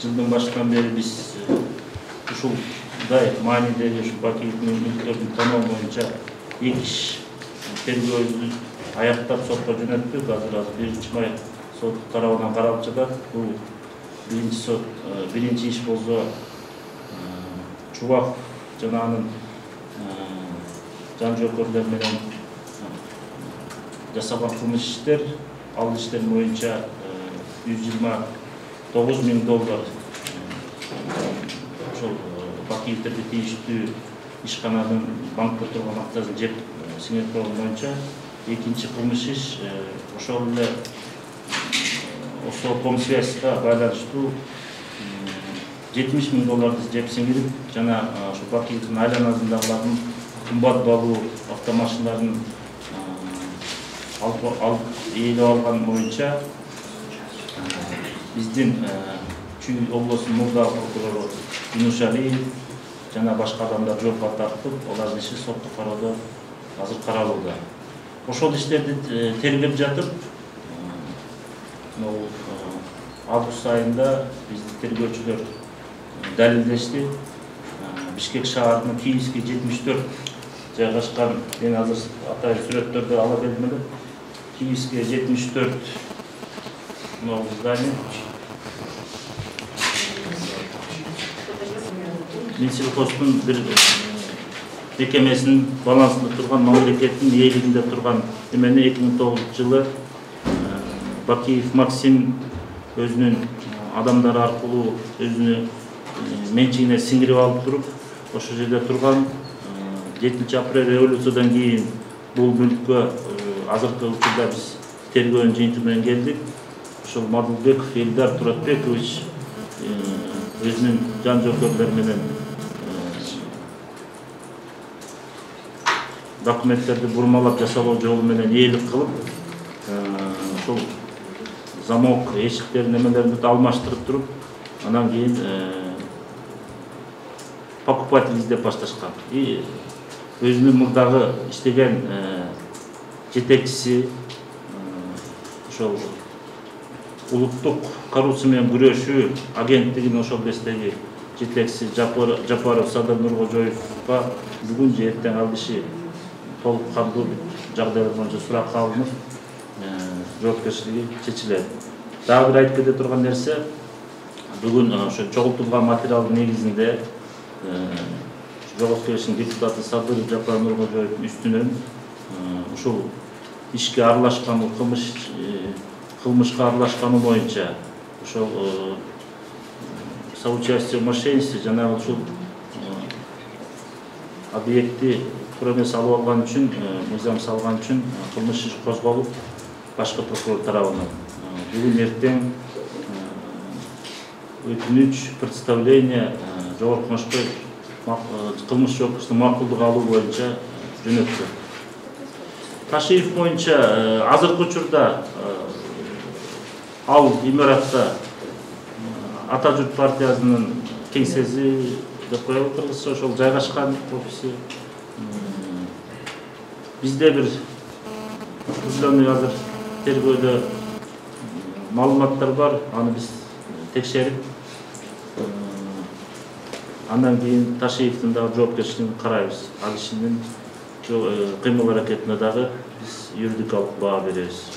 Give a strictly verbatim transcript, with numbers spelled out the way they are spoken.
жылдын башынан бери биз ушулдай маанидеги ушу Бакиевдин мүлктөрүн тоноо боюнча эки иш тергөөбүздү аяктап сотко жөнөттүк. Азыр азыр биринчи май сот тарабынан каралып жатат. Бул биринчи сот биринчи иш болсо Чубаков жана анын жан жоокерлер менен жасалган кылмыш иштер, ал иштер боюнча жүз жыйырма тогуз миң доллар ошол Бакиевдерге тийиштүү ишкананын банкта турган акчасын жеп сиңирип койгон боюнча экинчи кылмыш иш ошол эле Осокомсвязьга байланыштуу жетимиш миң долларды жеп сиңирип жана ошо Бакиевдин айланасындагылардын кымбат баалуу автомашиналарын алып ээлеп алган боюнча биздин Чүй облусунун мурда прокурору Юнушалиев жана башка адамдар жоопко тартылып, алардын иши соттук кароодо азыр каралууда. Ошол иштерди тергеп жатып, август айында биздин тергөөчүлөр далилдешти. Бишкек шаарынын Киевский жетимиш төрт жайгашкан, мен азыр атайын сүрөттөрдү ала келдим эле. Киевский жетимиш төрт здание. Минсельхоздун бир мекемесинин балансында турган, мамлекеттин ээлигинде турган эмени эки миң тогузунчу жылы Бакиев Максим өзүнүн адамдары аркылуу өзүнүн менчигине сиңирип алып туруп, ошол жерде турган. жетинчи апрель революциядан кийин бул мүлккө азыркы учурда биз тергөөнүн жыйынтыгы менен келдик. Ошол Мадылбеков Элдар Туратбекович өзүнүн жан жоокерлери менен документтерди бурмалап жасалуу жолу менен ээлик кылып, ошол замок эшиктерин немелерин алмаштырып туруп, анан кийин покупатель издеп башташкан. И өзүнүн мурдагы иштеген жетекчиси ошол улуттук коррупция менен күрөшүү агенттигинин ошол кездеги жетекчиси Жапаров Садыр Нуркожоевго бүгүн же эртең ал киши толук кандуу жагдайлар боюнча суракка алынып, жоопкерчилиги чечилет. Дагы бир айтып кете турган нерсе, бүгүн ошо чогултулган материалдын негизинде Жогорку Кеңештин депутаты Садыр Жапар Нуркожоевдун үстүнөн ушул ишке аралашкан, кылмыш кылмышка аралашканы боюнча ошол соучастие в мошенничестве жана ушул объекти промес алып алган үчүн, мыйзам салган үчүн кылмыш иш козголуп, башкы прокурор тарабынан бүгүн эртең өтүнүч, представление Жогорку Кеңешке кылмыш жоопкерчиликтин макулдук алуу боюнча жөнөттү. Ташиев боюнча азыркы учурда ал имаратта Ата журт партиясынын кеңсеси деп коелу кыргызча, ошол жайгашкан офиси. Бизде бир определенный азыр тергөөдө маалыматтар бар, аны биз текшерип, андан кийин Ташиевдин дагы жоопкерчилигин карайбыз. Ал кишинин кыймыл аракетине дагы биз юридикалык баа беребиз.